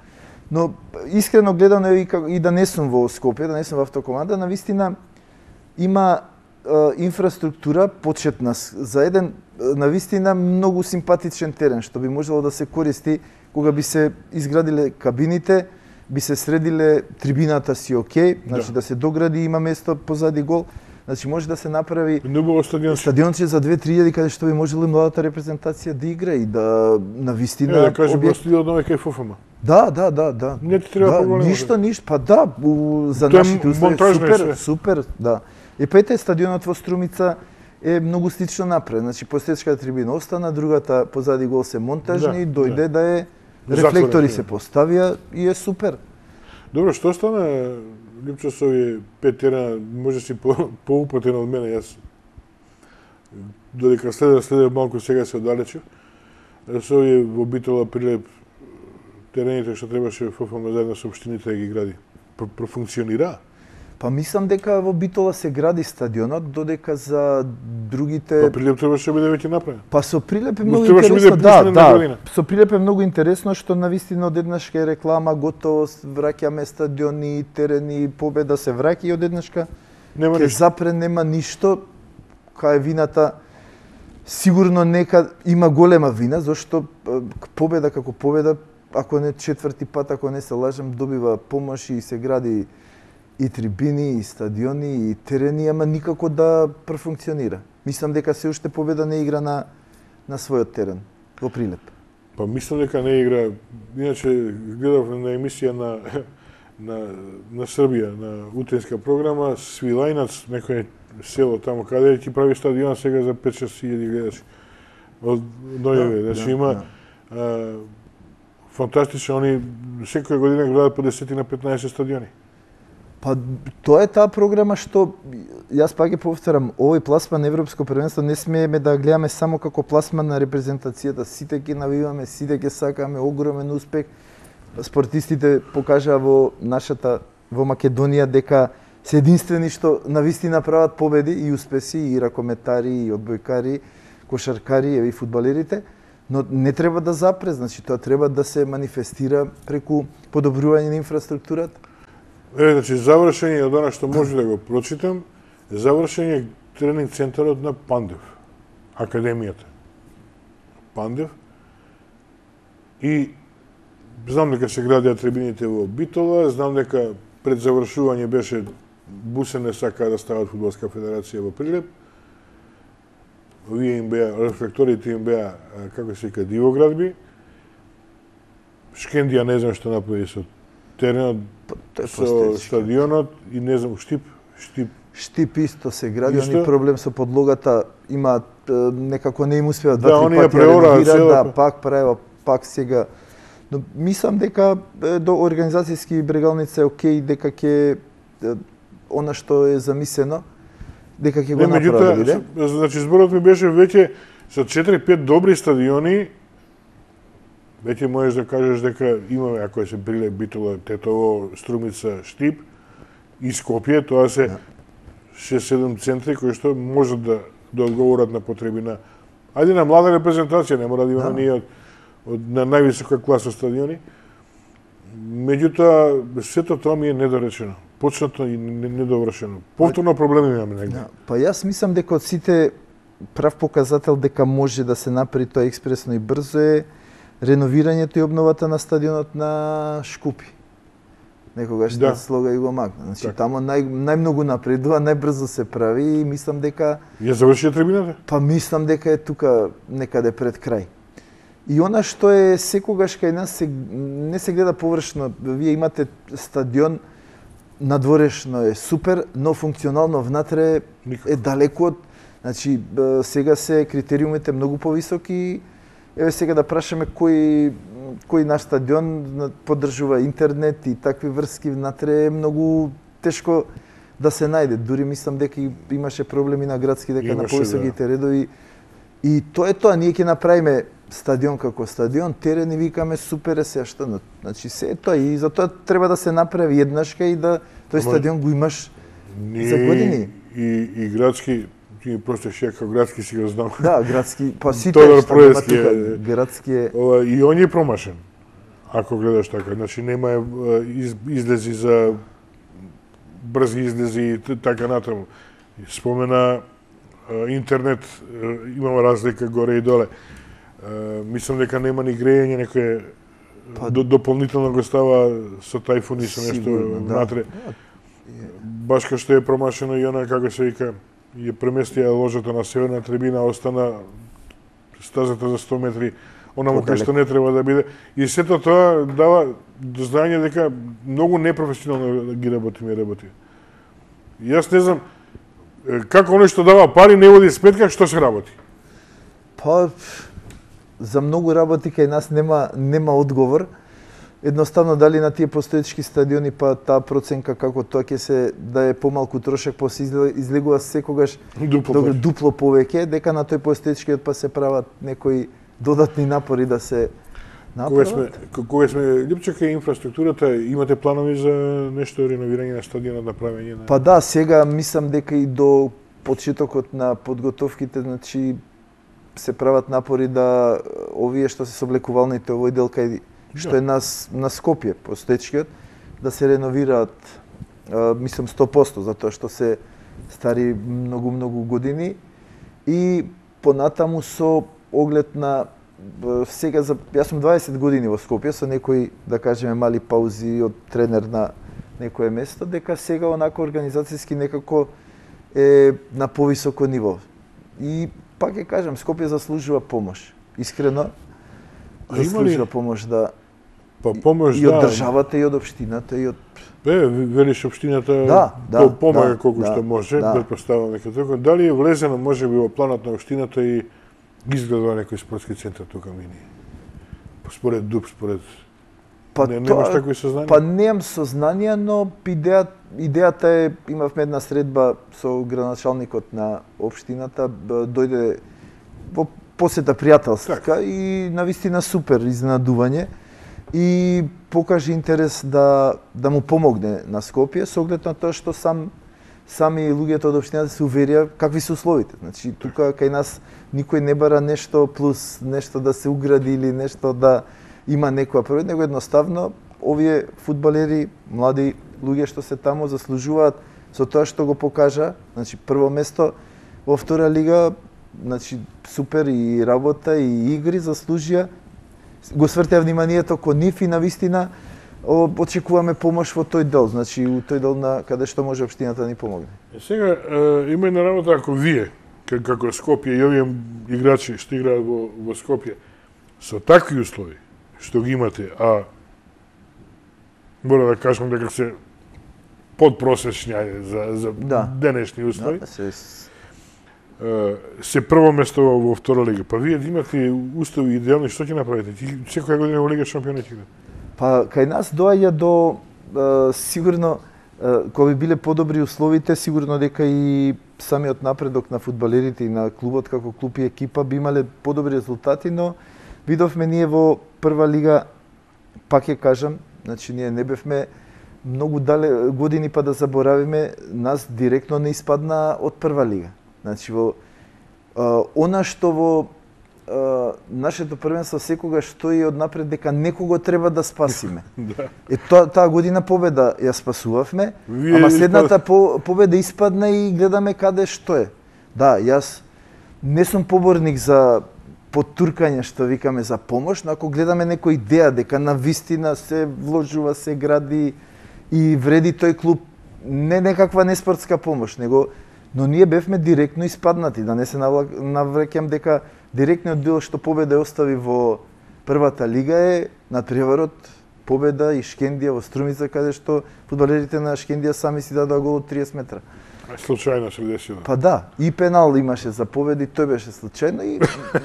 Но искрено гледано и, и да не сум во Скопје, да не сум во автокоманда, навистина има е, инфраструктура почетна за еден навистина многу симпатичен терен што би можело да се користи кога би се изградиле кабините, би се средиле трибината си окей, значи да, да се догради, има место позади гол. Значи може да се направи стадионче за две-три илјади каде што би можело младата репрезентација да игра и да навистина е, да кажем во стилот на кај ФФМ. Да, да, да, да. Не ти треба да, проблем. Ништо, ништо, па да, у, за Тоа нашите услови супер, се. супер, да. И па ете стадионот во Струмица е многу слично направен. Значи посетичката трибина остана, другата позади гол се монтажни, да, дојде да, да е рефлектори се поставија и е супер. Добро, што стана Липчо со овие пет терена, може си по, поупатен од мене, јас додека следе, следе малку сега се оддалечив, со овие во Битола Прилеп терените што требаше ФФМ заедно со општините да ги гради, профункционира? Па мислам дека во Битола се гради стадионот, додека за другите... Па Прилеп требаше да биде веќе направен. Па со Прилеп е многу интересно, да, да. Со Прилеп е многу интересно што навистина одеднашка е реклама, готовост, враќаме стадиони, терени, победа се враќа и одеднашка ке запре нема ништо. Кај вината сигурно нека има голема вина, зашто победа како победа, ако не четврти пат, ако не се лажам, добива помош и се гради и трибини, и стадиони, и терени, ама никако да профункционира. Мислам дека се уште победа не игра на, на својот терен, во Прилеп. Па мислам дека не игра, иначе гледав на емисија на, на, на Србија, на утенска програма, Свилајнац, некој село таму, каде ќе прави стадион сега за пет-шест илјади гледачи. Од Нојеве, да, значи да, има да. А, фантастично, они секоја година градат по десет на петнаесет стадиони. Па тоа е таа програма што јас пак ќе повторам, овој пласман на европско првенство не смееме да гледаме само како пласман на репрезентацијата, сите ќе навиваме, сите ќе сакаме огромен успех. Спортистите покажаа во нашата во Македонија дека се единствени што навистина прават победи и успеси и ракометари и одбојкари, кошаркари и фудбалерите, но не треба да запре, значи тоа треба да се манифестира преку подобрување на инфраструктурата. Е, значи, завршен е од она што може да го прочитам, завршен е тренинг центарот на Пандев, академијата. Пандев. И знам дека се градеа трибините во Битола, знам дека пред завршување беше Бусене сака да стават фудбалска федерација во Прилеп. Овие им беа, рефлекторите им беа, како се вика, дивоградби. Шкендија не знам што направи со теренот, со стадионот и не знам, Штип, Штип. Штип исто се гради, они проблем со подлогата имаат, некако не им успеат два-три да, пати реагираат, да, пак правеа, пак сега. Но мислам дека до организацијски брегалница е окей, дека ќе она што е замислено, дека ќе го направи, биде. Значи зборот ми беше веќе со четири-пет добри стадиони, веќе можеш да кажеш дека имаме, ако се Прилеп, Битола, Тетово, Струмица, Штип и Скопје, тоа се шест-седум центри кои што можат да, да одговорат на потреби на ајде на млада репрезентација, не мора да имаме ние од, од на највисока класа стадиони. Меѓутоа, сето тоа ми е недоречено. Почнато и недовршено. Повторно проблеми имаме негде. Да, па јас мислам дека од сите прав показател дека може да се направи тоа експресно и брзо е реновирањето и обновата на стадионот на Шкупи. Некогаш да слога и го макна. Значи так. Тамо нај, најмногу напредува, најбрзо се прави и мислам дека... Ја завршија трибината? Па мислам дека е тука некаде пред крај. И она што е секогаш кај нас се, не се гледа површно. Вие имате стадион, надворешно е супер, но функционално внатре Никако. Е далеку од Значи, сега се критериумите многу повисоки. Еве сега да прашаме кој кој наш стадион поддржува интернет и такви врски внатре е многу тешко да се најде. Дури мислам дека имаше проблеми на градски дека имаше, на повисоките да. редови. И тоа е тоа, ние ќе направиме стадион како стадион, терен и викаме супер е се што. Значи се е тоа и затоа треба да се направи еднашка и да тој стадион го имаш ние, за години. И и градски ти просто ше како градски си го знам. Да, градски, па сите Тодор што Проески тука, е, градски е. Ова, и он е промашен. Ако гледаш така, значи нема из, излези за брзи излези и така натаму. Спомена интернет, имаме разлика горе и доле. Мислам дека нема ни грејење, некој па, до, дополнително го става со тајфуни со нешто внатре. Да. Баш кај што е промашено и она, како се вика, ја преместија ложата на северна трибина, остана стазата за сто метри, онаму кај што не треба да биде. И сето тоа дава до знаење дека многу непрофесионално ги работиме работи. Јас не знам, како оно што дава пари не води сметка што се работи. Па, за многу работи кај нас нема нема одговор. Едноставно дали на тие постоечки стадиони па таа проценка како тоа ќе се да е помалку трошок, па се излегува секогаш дупло, до, дупло повеќе, дека на тој постоечкиот па се прават некои додатни напори да се направат. Кога сме кога сме Липче кај инфраструктурата, имате планови за нешто реновирање на стадионот, направење на? Па да, сега мислам дека и до почетокот на подготовките, значи се прават напори да овие што се соблекувалните овој дел кај што е нас на Скопје, постоечкиот, да се реновираат, а, мислам сто проценти, затоа што се стари многу многу години и понатаму со оглед на сега за јас сум дваесет години во Скопје со некои, да кажеме, мали паузи од тренер на некое место, дека сега онако организацијски некако е на повисоко ниво. И пак ќе кажам, Скопје заслужува помош. Искрено заслужува помош да па помош и од да, државата и од општината и од Бе, велиш општината да, да, помага да, колку да, што може, да. претпоставам дека така. Дали е влезено можеби во планот на општината и изгледа некој спортски центар тука мини? Според ДУП, според Па не, тоа, немаш такви сознанија? Па немам сознанија, но идеја, идејата е, имавме една средба со градоначалникот на општината, дојде во посета пријателска так. И навистина супер изненадување и покажи интерес да да му помогне на Скопје со оглед на тоа што сам сами луѓето од општината се уверија какви се условите. Значи тука кај нас никој не бара нешто плюс, нешто да се угради или нешто да има некоја првој, него едноставно овие фудбалери, млади луѓе што се таму заслужуваат со тоа што го покажа, значи прво место во втора лига, значи супер и работа и игри заслужија. Го свртеа вниманието кон нив и навистина очекуваме помош во тој дел, значи у тој дел на каде што може општината да ни помогне. Сега има една работа ако вие како Скопје и овие играчи што играат во во Скопје со такви услови што ги имате, а мора да кажам дека се подпросечни за за да. денешни услови. Да, се се прво место во втора лига. Па вие имате услови идеални, што ќе направите? Ти секоја година во Лига шампиони ќе играте. Па кај нас доаѓа до е, сигурно е, кога би биле подобри условите, сигурно дека и самиот напредок на фудбалерите и на клубот како клуб и екипа би имале подобри резултати, но видовме ние во прва лига, пак ќе кажам, значи ние не бевме многу дале години па да заборавиме, нас директно не испадна од прва лига. Значи во а, она што во а, нашето првенство секогаш стои однапред дека некого треба да спасиме. Да. Е тоа таа година победа ја спасувавме, Вие ама следната испад... по, победа испадна и гледаме каде што е. Да, јас не сум поборник за потуркање што викаме за помош, но ако гледаме некоја идеја дека на вистина се вложува, се гради и вреди тој клуб, не некаква неспортска помош, него но ние бевме директно испаднати, да не се навраќам дека директниот дел што победа остави во првата лига е надпреварот победа и Шкендија во Струмица, каде што фудбалерите на Шкендија сами си дадоа гол од триесет метра. Случајно се десило. Па да, и пенал имаше за победи, тој беше случајно и,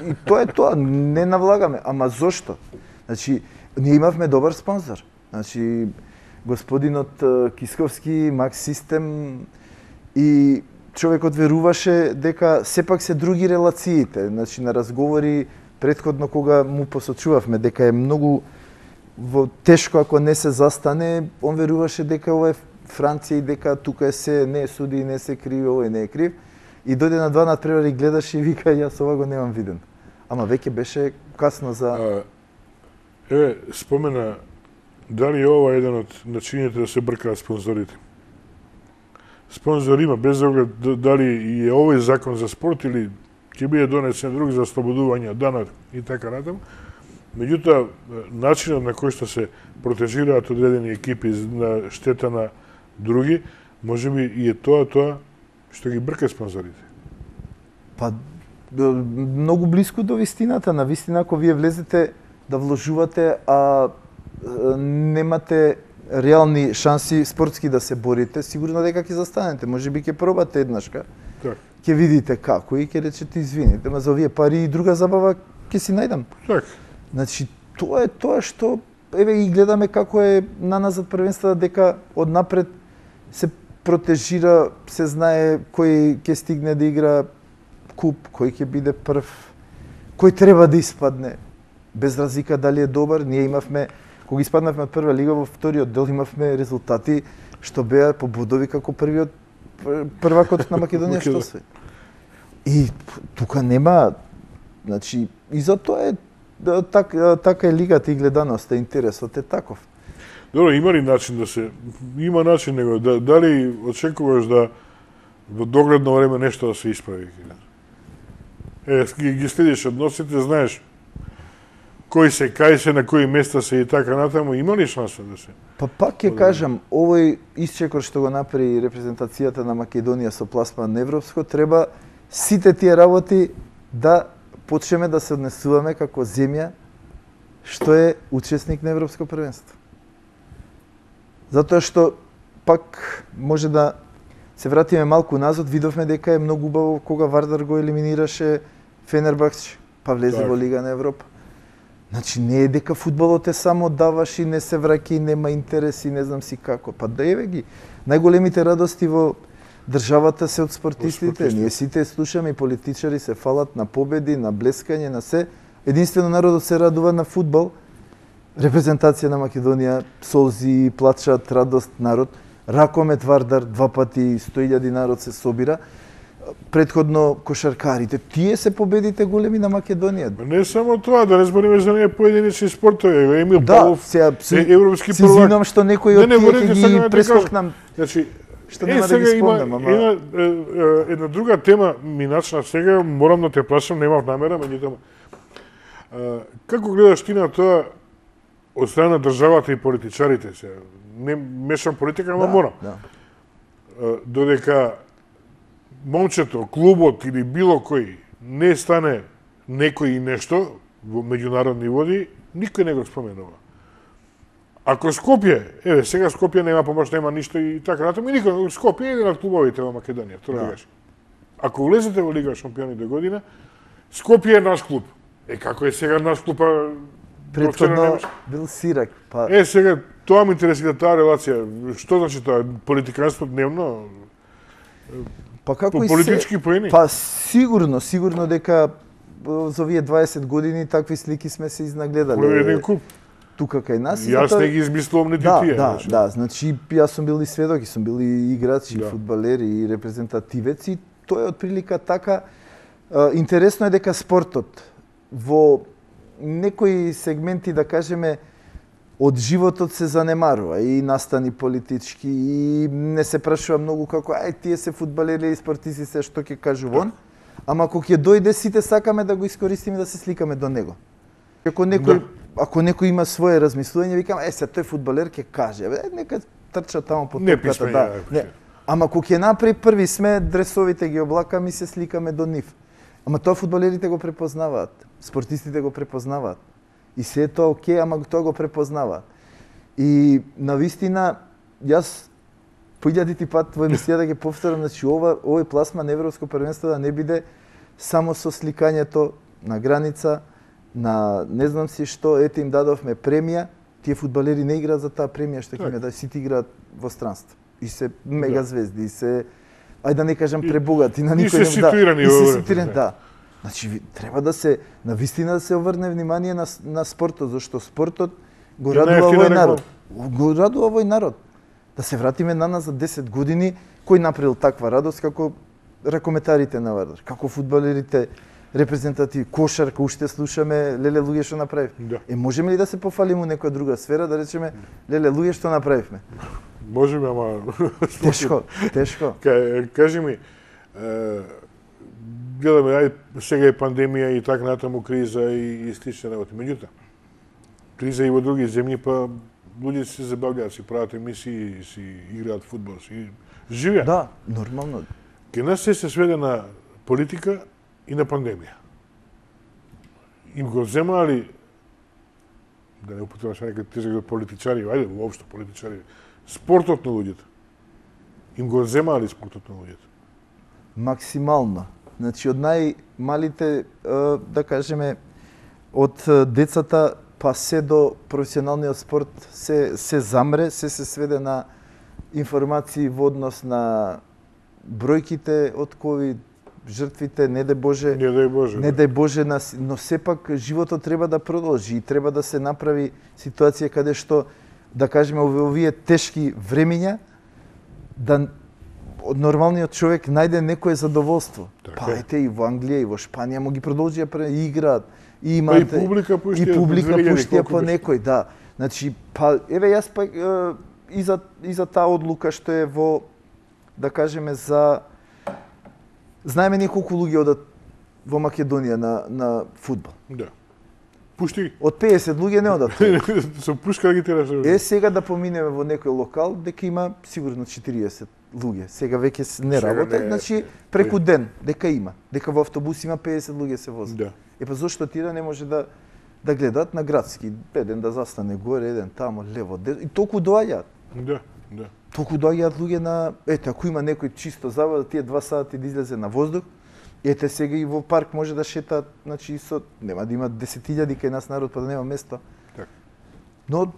и тоа е тоа, не навлагаме. Ама зошто? Значи, ние имавме добар спонзор. Значи, господинот Кисковски, Макс Систем и човекот веруваше дека сепак се други релациите. Значи, на разговори претходно кога му посочувавме дека е многу во тешко ако не се застане, он веруваше дека ова е Франција и дека тука е се, не е суди, не се криви, овој не е крив. И дојде на два надпревари, гледаше и вика, јас ова го немам виден. Ама веќе беше касно за... А, еве, спомена, дали е ова еден од начините да се бркаат спонзорите? Спонзор има, без оглед дали и е овој закон за спорт или ќе биде донесен друг за ослободување од данок и така натаму. Меѓутоа, начинот на кој што се протежираат одредени екипи на штета на други, можеби и е тоа тоа што ги брка спонзорите. Па, многу близко до вистината. На вистина, ако вие влезете да вложувате, а немате реални шанси спортски да се борите, сигурно дека ќе застанете. Можеби ќе пробате еднашка, Так. ќе видите како и ќе речете извините, ма за овие пари и друга забава ќе си најдам. Так. Значи, тоа е тоа што, еве и гледаме како е на назад првенствата, дека однапред се протежира, се знае кој ќе стигне да игра куп, кој ќе биде прв, кој треба да испадне, без разлика дали е добар. Ние имавме, кога испаднавме од прва лига, во вториот дел имавме резултати што беа по бодови како првиот првакот на Македонија што се. И тука нема, значи, и за тоа е так, така е лигата и гледаноста, интересот е таков. Добро, има ли начин да се... Има начин, него, да, дали очекуваш да во догледно време нешто да се исправи? Е, ги, ги следиш односите, знаеш кои се, кај се, на кои места се и така натаму, има ли шанса да се? Па пак ќе кажам, овој исчекор што го направи репрезентацијата на Македонија со пласман европско, треба сите тие работи да почнеме да се однесуваме како земја што е учесник на Европско првенство. Затоа што пак може да се вратиме малку назад, видовме дека е многу убаво кога Вардар го елиминираше Фенербахче, па влезе так. во Лига на Европа. Значи не е дека фудбалот е само даваш и не се враќа и нема интерес и не знам си како. Па да еве ги. Најголемите радости во државата се од спортистите. Ние сите слушаме и политичари се фалат на победи, на блескање, на се. Единствено народот се радува на фудбал. Репрезентација на Македонија, солзи, плачат, радост, народ. Ракомет Вардар, два пати сто илјади народ се собира. Предходно кошаркарите, тие се победите големи на Македонија. Не само тоа, да не збориме за ние поединечни спортови. Емил Да, Павлов, сега е европски си првак. извинувам што некои од тие ќе ги прескокнам. Значи, Што нема да ги спомнам, ама... Една, е, една друга тема ми начна сега, морам да те прашам, немав намера, меѓутоа. Како гледаш ти на тоа од страна на државата и политичарите се? Не мешам политика, ама да, морам. Да. Додека момчето, клубот или било кој не стане некој и нешто во меѓународни води, никој не го споменува. Ако Скопје, еве, сега Скопје нема помош, нема ништо и така натаму, и никој, Скопје е еден од клубовите во Македонија, тоа да. Гаш. Ако влезете во Лига шампиони до година, Скопје е наш клуб. Е, како е сега наш клуб, а... Претходно бил Сирак, па... Е, сега, тоа ме интересира таа релација. Што значи тоа? Политиканство дневно? Па како по и политички се... поени? Па сигурно, сигурно дека за овие дваесет години такви слики сме се изнагледале. По еден куп. Тука кај нас. Јас зато... не ги измислувам нити да, тие. Да, значи. да, значи јас сум бил и сведок, и сум бил и играч, и да. фудбалер, и репрезентативец, и тоа е отприлика така. Интересно е дека спортот во некои сегменти, да кажеме, од животот се занемарува и настани политички и не се прашува многу како ај тие се фудбалери и спортисти се што ќе кажу вон, ама ако ќе дојде сите сакаме да го искористиме да се сликаме до него. Ако некој да. Ако некој има свое размислување, викам е се тој фудбалер ќе каже, е нека трча таму по топката, да. Не. Ама ако ќе направи први сме дресовите ги облакаме и се сликаме до нив. Ама тоа фудбалерите го препознаваат, спортистите го препознаваат. И се е тоа окей, ама тоа го препознаваат. И на вистина, јас по илјадити пат во емисија да ги повторам, значи ова овој пласма на Европско првенство да не биде само со сликањето на граница, на не знам си што, ете им дадовме премија, тие фудбалери не играат за таа премија што ќе им да сите играат во странство. И се мега звезди, и се ајде да не кажам пребогати, на никој не да. И се ситуирани, да. Значи треба да се навистина да се обрне внимание на на спортот, зашто спортот го радува овој народ. Го радува овој народ. Да се вратиме на нас за десет години, кој направил таква радост како ракометарите на Вардар, како фудбалерите репрезентативи, кошарка, уште слушаме, леле луѓе што направив. Да. Е можеме ли да се пофалиме у некоја друга сфера да речеме леле луѓе што направивме? Можеме, ама тешко, тешко. Кажи ми, гледаме ај сега е пандемија и така натаму криза и, и слични работи. Меѓутоа, криза и во други земји, па луѓе се забавлjaат, си прават емисии, си играат фудбал, си живеат. Да, нормално. Ке нас се се сведе на политика и на пандемија. Им го земаали, да не употребам сега некој тежок политичари, ајде воопшто политичари, спортот на луѓето. Им го земаали спортот на луѓето. Максимално. Значи од најмалите, да кажеме, од децата па се до професионалниот спорт се се замре, се се сведе на информации во однос на бројките од ковид, жртвите, не дај Боже, не дај Боже, не дај Боже, но сепак животот треба да продолжи и треба да се направи ситуација каде што, да кажеме, во овие тешки времиња, да од нормалниот човек најде некое задоволство. Так, па ете и во Англија и во Шпанија му ги продолжија и играат. И имате, па и публика пуштија, и публика пуштија по некој, да. Значи, па еве јас па и за и за таа одлука што е во, да кажеме, за знаеме ние колку луѓе одат во Македонија на на фудбал. Да. Пушти. Од пеесет луѓе не одат. Со пушка ги тераш. Е сега да поминеме во некој локал дека има сигурно четириесет луѓе. Сега веќе не работат, значи преку ден дека има, дека во автобус има пеесет луѓе се возат. Да. Е па зошто тие да не може да да гледаат на градски, еден да застане горе, еден тамо, лево, десно, и толку доаѓаат. Да, да. Толку доаѓаат луѓе на, ете, ако има некој чисто забава, тие два сати да излезе на воздух, ете сега и во парк може да шетаат, значи со нема да има десет илјади кај нас народ па да нема место. Така. Но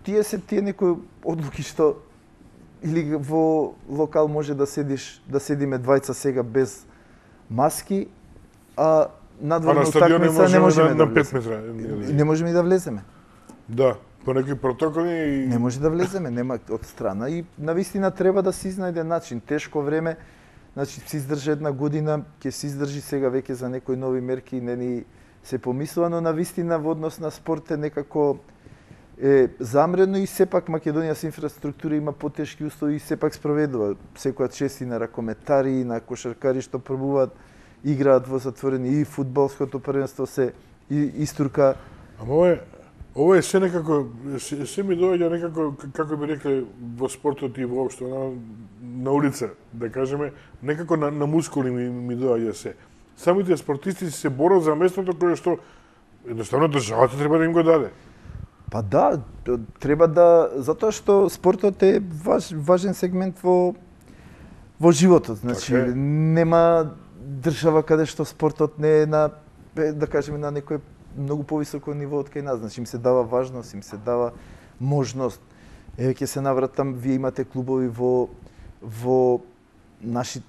тие се тие некои одлуки што или во локал може да седиш, да седиме двајца сега без маски, а надворно утакмица не можеме на, да на пет метра. Не можеме и да влеземе. Да, по некои протоколи и не може да влеземе, нема од страна и навистина треба да се изнајде начин. Тешко време, значи се издржи една година, ќе се издржи сега веќе за некои нови мерки, не ни се помислува, но навистина во однос на спорт е некако е замрено и сепак Македонија со инфраструктура има потешки услови и сепак спроведува секоја чест и на ракометари, и на кошаркари што пробуваат играат во затворени и фудбалското првенство се и истурка. Ама ова е ова е се некако се, се ми доаѓа некако како би рекле во спортот и воопшто на, на улица, да кажеме, некако на, на мускули ми, ми доаѓа се. Самите спортисти се борат за местото кое што едноставно државата треба да им го даде. Па да, треба да, затоа што спортот е важ, важен сегмент во во животот. Значи така нема држава каде што спортот не е на, да кажеме, на некој многу повисоко ниво од кај нас. Значи им се дава важност, им се дава можност. Еве ќе се навратам, вие имате клубови во во наши,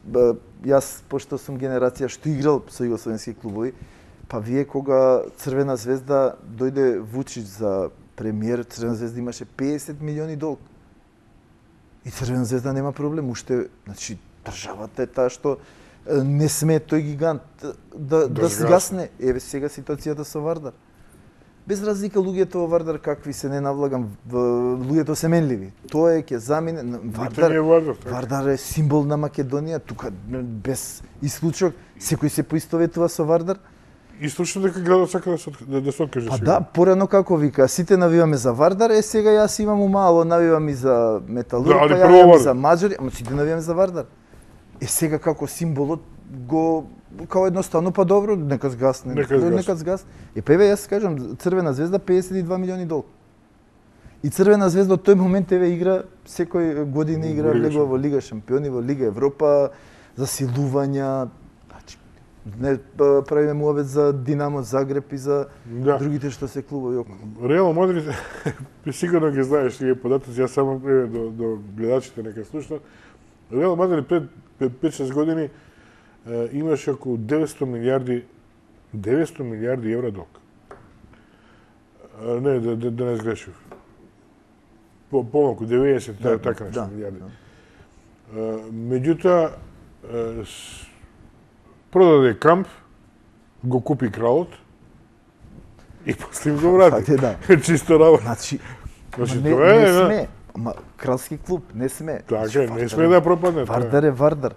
јас пошто сум генерација што играл со југословенски клубови, па вие кога Црвена звезда дојде Вучич за премиер, Црвена звезда имаше пеесет милиони долг. И Црвена звезда нема проблем, уште, значи државата е таа што не сме тој гигант да, да сгасне. Еве сега ситуацијата со Вардар. Без разлика луѓето во Вардар какви се, не навлагам, луѓето се менливи. Тоа е ќе замине Вардар. Е Вардар, Вардар е символ на Македонија, тука без исклучок секој се поистоветува со Вардар. И слушам дека градот сака да се да, да се откаже сега. А да, порано како вика, сите навиваме за Вардар, е сега јас имам умало, навивам и за Металург, да, па ја и за Маџари, ама сите навиваме за Вардар. Е сега како символот го као едноставно па добро, нека згасне, нека згасне. Нека згасне. Е па еве јас кажам, Црвена звезда пеесет и два милиони долг. И Црвена звезда од тој момент еве игра секој година игра Лига влегува во Лига шампиони, во Лига Европа, засилувања. Значи не правиме муабет за Динамо Загреб и за Да. другите што се клубови околу. Реал Мадрид, сигурно ги знаеш тие податоци, јас само еве до, до гледачите нека слушнат. Реал Мадрид пред пет-шест години е, имаше околу деветсто милијарди деветсто милијарди евра долг. Е, не, да, да, да не сгрешив. По, помалку, деветдесет, да, така нешто да, милијарди. Да. Е, меѓутоа, е, с- продаде камп, го купи кралот и после им го врати. Факт е, да. Чисто работа. Значи, Значи, не, тоа е, не да. сме. Ама кралски клуб, не сме. Така Значи, е, не Вардар сме е- да пропадне. тоа е. Вардар е Вардар.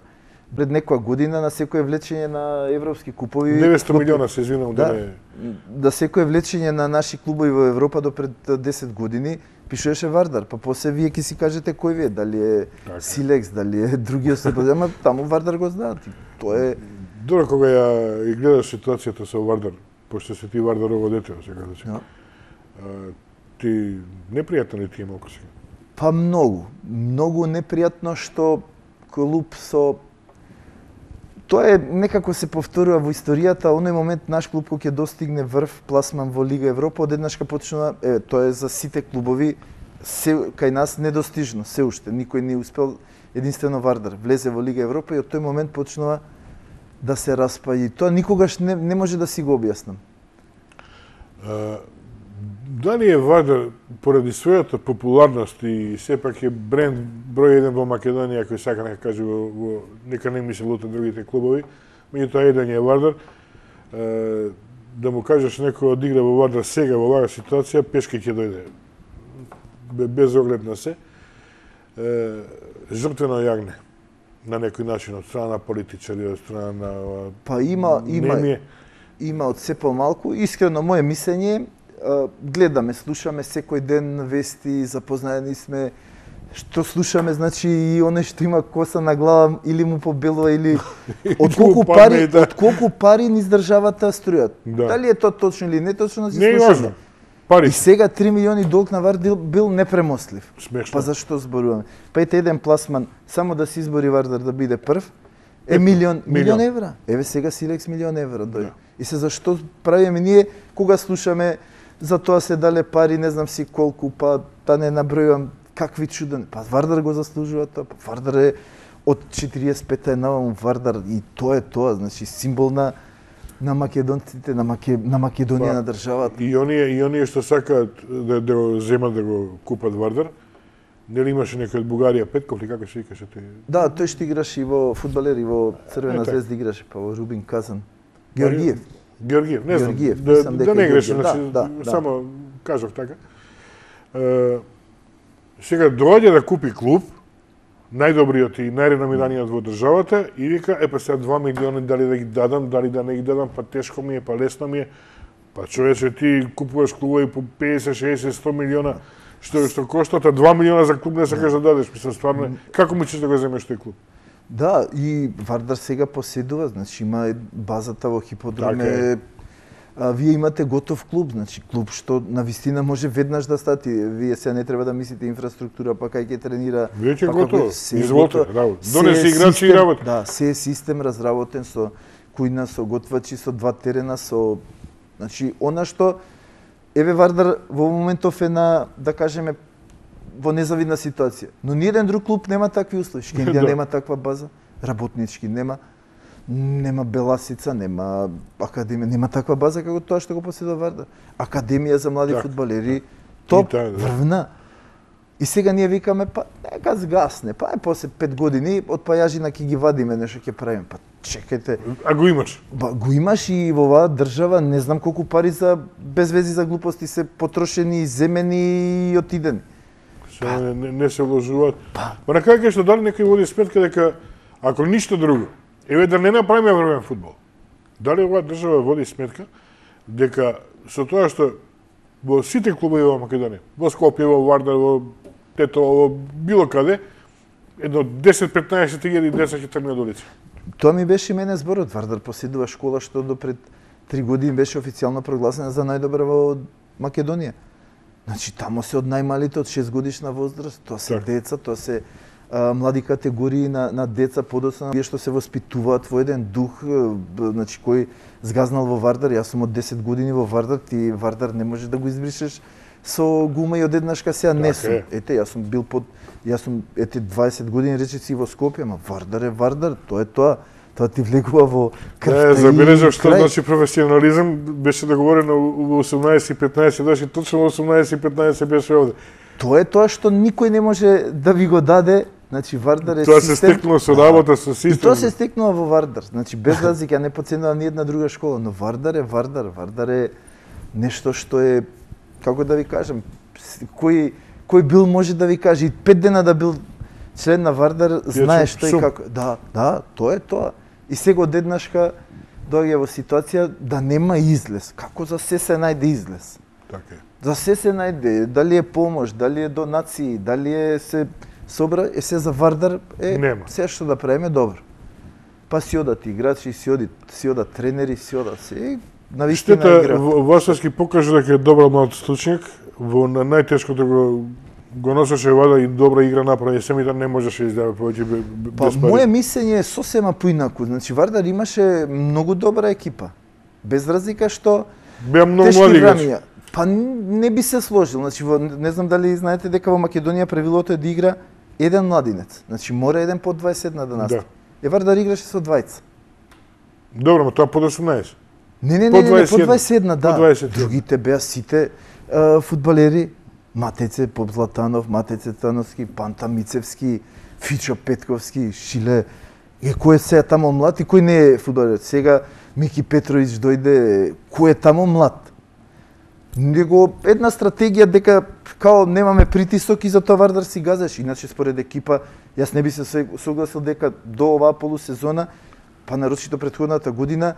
Пред некоја година на секое влечење на европски купови деветсто клуб- милиона се извинам да, Да. не. Да секое влечење на наши клубови во Европа до пред десет години пишуваше Вардар, па после вие ќе си кажете кој ви е, дали е Така. Силекс, дали е другиот се, ама таму Вардар го знаат. и Тоа е Добро кога ја и гледаш ситуацијата со Вардар, пошто се ти Вардарово дете, сега да се. Да. А, ти непријатно ли ти е малку сега? па многу, многу непријатно што клуб со Тоа е некако се повторува во историјата, оној момент наш клуб кој ќе достигне врв пласман во Лига Европа, одеднаш ка почнува, е, тоа е за сите клубови се кај нас недостижно, се уште никој не успел, единствено Вардар влезе во Лига Европа и од тој момент почнува да се распа и тоа никогаш не, не може да си го објаснам. А, дали е Вардар поради својата популарност и сепак е бренд број еден во Македонија кој сака нека каже во, во нека не ми се лута другите клубови, меѓутоа еден е Вардар. А, да му кажеш некој одигра во Вардар сега во оваа ситуација, пешки ќе дојде. Бе- Без оглед на се. Е, жртвено јагне на некој начин од страна на политичари, од страна на Па има, има, Не ми е. има од се помалку. Искрено, моје мислење е, а, гледаме, слушаме секој ден вести, запознаени сме, што слушаме, значи и оној што има коса на глава или му побелува или од колку му пари, падне, да. од колку пари низ државата струјат. Да. Дали е тоа точно или не точно, си Не е слушаме. важно. Пари. И сега три милиони долг на Вардар бил непремослив. Смешно. Па зашто зборуваме? Па ете еден пласман, само да се избори Вардар да биде прв, е Е, милион, милион милион. евра. Еве сега Силекс милион евра дојде. Да. И се зашто правиме ние кога слушаме за тоа се дале пари, не знам си колку, па да не набројувам какви чуден. Па Вардар го заслужува тоа. Па Вардар е од четириесет и пета е наваму Вардар и тоа е тоа, значи символ на на македонците, на, Маке, на Македонија, Па, на државата. И оние и оние што сакаат да, да го земат да го купат Вардар, нели имаше некој од Бугарија Петков или како се викаше тој? Да, тој што играше и во фудбалер и во Црвена Е, така. звезда играше, па во Рубин Казан. Георгиев. Георгиев, не знам. Георгиев, да, мислам да дека не е грешам, Георгиев. значи, Да, да, да. само кажав така. Е, сега доаѓа да купи клуб, најдобриот и најреномираниот во државата и вика, е па сега два милиони дали да ги дадам, дали да не ги дадам, па тешко ми е, па лесно ми е. Па човече ти купуваш клубови по песет, шеесет, сто милиона што што коштат, а два милиона за клуб не сакаш да дадеш, мислам стварно, е, како мислиш да го земеш тој клуб? Да, и Вардар сега поседува, значи има е базата во хиподром Така е. е, а, вие имате готов клуб, значи клуб што на вистина може веднаш да стати. Вие сега не треба да мислите инфраструктура, па кај ќе тренира. Веќе па готово. како- се е Изволте, готово. работа. Се Донеси е играчи и систем- работа. Да, се е систем разработен со кујна, со готвачи, со два терена, со значи она што еве Вардар во моментов е на, да кажеме, во незавидна ситуација. Но ниеден друг клуб нема такви услови. Шкендија Да. нема таква база, работнички нема, нема Беласица, нема академија, нема таква база како тоа што го поседува Вардар. Академија за млади Така, фудбалери, топ, таа, да. врвна. И сега ние викаме, па нека згасне, па е после пет години од пајажина ќе ги вадиме, нешто ќе правиме. Па чекајте, А го имаш. ба, го имаш и во оваа држава, не знам колку пари за без вези за глупости се потрошени, земени и отидени. Се, не, не, не се вложуваат. Па на крај што дали некој води сметка дека ако ништо друго, еве да не направиме врвен фудбал. Дали оваа држава води сметка дека со тоа што во сите клубови во Македонија, во Скопје, во Вардар, во Тетово, во било каде, едно десет-петнаесет илјади деца ќе тргнат до улица. Тоа ми беше и мене зборот. Вардар поседува школа што до пред три години беше официјално прогласена за најдобра во Македонија. Значи тамо се од најмалите од шест годишна возраст, тоа се Так. деца, тоа се а, млади категории на, на деца, подоцна тие што се воспитуваат во еден дух, б- значи кој згазнал во Вардар, јас сум од десет години во Вардар, ти Вардар не можеш да го избришеш со гума и одеднашка сега не Така сум. е. Ете, јас сум бил под јас сум ете дваесет години речиси во Скопје, ама Вардар е Вардар, тоа е тоа. Тоа ти влегува во крвта Е, забележав и што крај. значи професионализам, беше договорено во осумнаесет и петнаесет, значи точно во осумнаесет и петнаесет беше овде. Тоа е тоа што никој не може да ви го даде. Значи Вардар е Тоа систем. се стекнало со работа, со И систем. тоа се стекнува во Вардар. Значи без разлика, ја не поценувам ни една друга школа, но Вардар е Вардар. Вардар е нешто што е, како да ви кажам, с- кој кој бил може да ви каже и пет дена да бил член на Вардар, знае сум- што и сум. како. Да, да, тоа е тоа. И сега одеднашка доаѓа во ситуација да нема излез. Како за се се најде излез? Така е. За се се најде, дали е помош, дали е донации, дали е се собра, е се за Вардар, е Нема. се што да правиме добро. Па си одат играчи, си одат, си одат тренери, си одат се. И на вистина Штета, игра. Во- Васовски покажа дека е добар млад случник, во на најтешкото го го носеше вада и добра игра направи, семите не можеше да издава повеќе бе- бе- Па без пари. моје мислење е сосема поинаку. Значи Вардар имаше многу добра екипа. Без разлика што Беа многу тешки млади играчи. врања. Па не би се сложил. Значи во, не знам дали знаете дека во Македонија правилото е да игра еден младинец. Значи мора еден под дваесет една да настапи. Да. Е Вардар играше со двајца. Добро, но тоа под осумнаесет. Не, не, По не, не, не, дваесет по и едно. дваесет една, да. По дваесет и едно. Другите беа сите а, фудбалери. Матеце Поп Златанов, Матеце Тановски, Панта Мицевски, Фичо Петковски, Шиле. Е, кој е сега тамо млад и кој не е фудбалер? Сега Мики Петровиќ дојде, кој е тамо млад? Него една стратегија дека као немаме притисок и за тоа Вардар си газеш. Иначе според екипа, јас не би се се- согласил дека до оваа полусезона, па нарочито претходната година,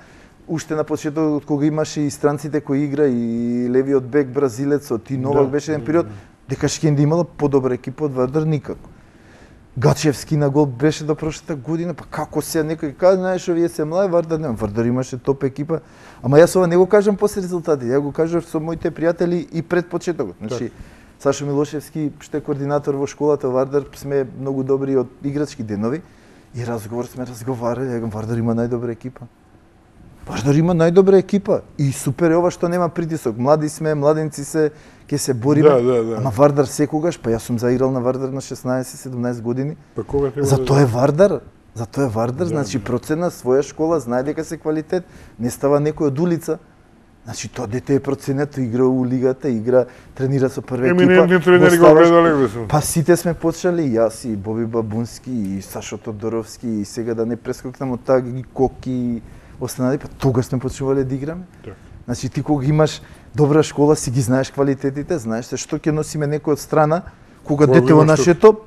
уште на почетокот кога имаше и странците кои игра и левиот бек бразилецот и Новак Да. беше еден период, дека Шкенди имала подобра екипа од Вардар никако. Гачевски на гол беше до прошлата година, па како се некој каже, знаеш, овие се млади, Вардар нема. Вардар имаше топ екипа. Ама јас ова не го кажам после резултати, ја го кажав со моите пријатели и пред почетокот. Значи, Сашо Милошевски, што е координатор во школата Вардар, сме многу добри од играчки денови и разговор сме разговарали, ја Вардар има најдобра екипа. Вардар има најдобра екипа и супер е ова што нема притисок. Млади сме, младенци се, ќе се бориме. Да, да, да. Ама Вардар секогаш, па јас сум заиграл на Вардар на шеснаесет седумнаесет години. Па кога треба За да тоа е Вардар. За тоа е Вардар, Да, значи да. процена своја школа, знае дека се квалитет, не става некој од улица. Значи тоа дете е проценето, игра у лигата, игра, тренира со прва екипа. Еминентни тренери го ставаш- гледале, мислам. Па сите сме почнали, и јас и Боби Бабунски и Сашо Тодоровски и сега да не прескокнам од таа ги Коки и останали, па тогаш сме почнувале да играме. Така. Значи ти кога имаш добра школа, си ги знаеш квалитетите, знаеш се што ќе носиме некој од страна, кога Кога дете во имаш нашето,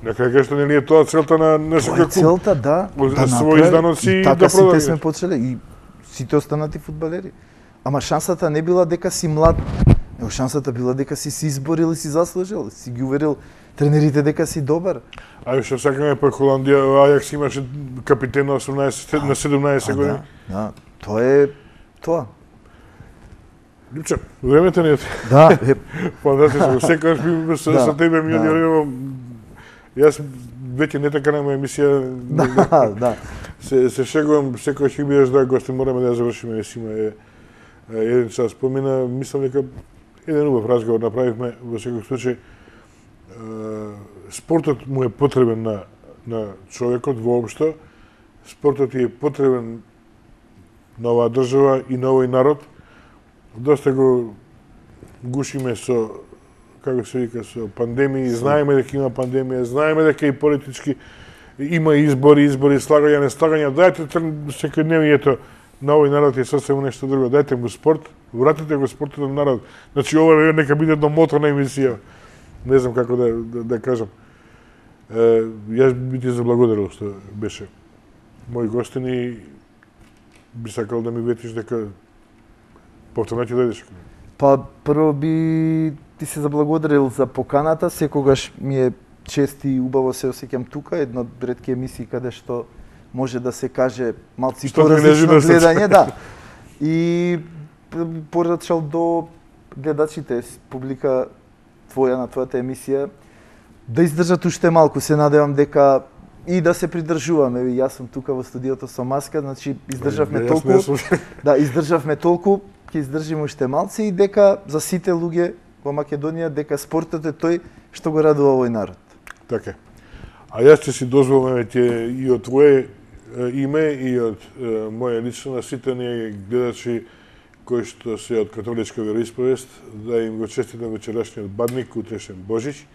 На крај што нели е тоа целта на на тоа е секој клуб. целта, да, Од- да своји направи. изданоци И да така сите продаваш. сме почеле и сите останати фудбалери. Ама шансата не била дека си млад, него шансата била дека си се изборил и си заслужил, си ги уверил тренерите дека си добар. Ајде што сакаме па Холандија, Ајакс имаше капитен на осумнаесет на седумнаесет А, години. да, да, тоа е тоа. Липче, времето не е Да, е, фантастично. Секогаш би со, Да, со тебе ми да. одјавувам. Јас веќе не така нема емисија. да, да. Се се шегувам, секогаш ќе бидеш да гости, мораме да ја завршиме, си има е, е, еден час помина, мислам дека еден убав разговор направивме во секој случај. Е, спортот му е потребен на на човекот воопшто. Спортот е потребен на оваа држава и на овој народ. Доста го гушиме со, како се вика, со пандемии, знаеме дека има пандемија, знаеме дека и политички има избори, избори, слагања, не слагања. Дајте секојдневието на овој народ е сосема нешто друго. Дајте му спорт, вратите го спортот на народ. Значи ова нека биде едно мото на емисија. Не знам како да, да, да кажам. Е, јас би ти заблагодарил што беше мој гостин и би сакал да ми ветиш дека повторно ќе дојдеш. Па прво би ти се заблагодарил за поканата, секогаш ми е чест и убаво се осеќам тука, една од ретки емисии каде што може да се каже малци Што ти лежи поразлично на срце. гледање, да. И порачал до гледачите, публика твоја на твојата емисија, да издржат уште малку. Се надевам дека и да се придржуваме. Јас сум тука во студиото со маска, значи издржавме толку. Да, издржавме толку, ќе издржиме уште малци и дека за сите луѓе во Македонија дека спортот е тој што го радува овој народ. Така. А јас ќе си дозволам ќе и од твое име и од моја лично на сите ние гледачи кои што се од католичка вероисповест да им го честитам вечерашниот бадник, утрешен Божич.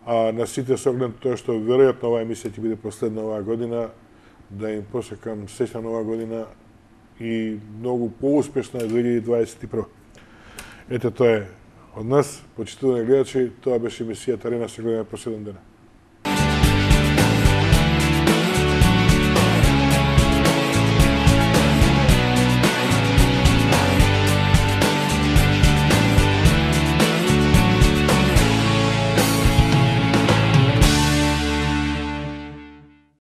А на сите со оглед тоа што веројатно оваа емисија ќе биде последна оваа година, да им посекам среќна нова година и многу поуспешна две илјади дваесет и прва. Ете тоа е од нас, почитувани гледачи, тоа беше емисијата Арена, се гледаме по седум дена.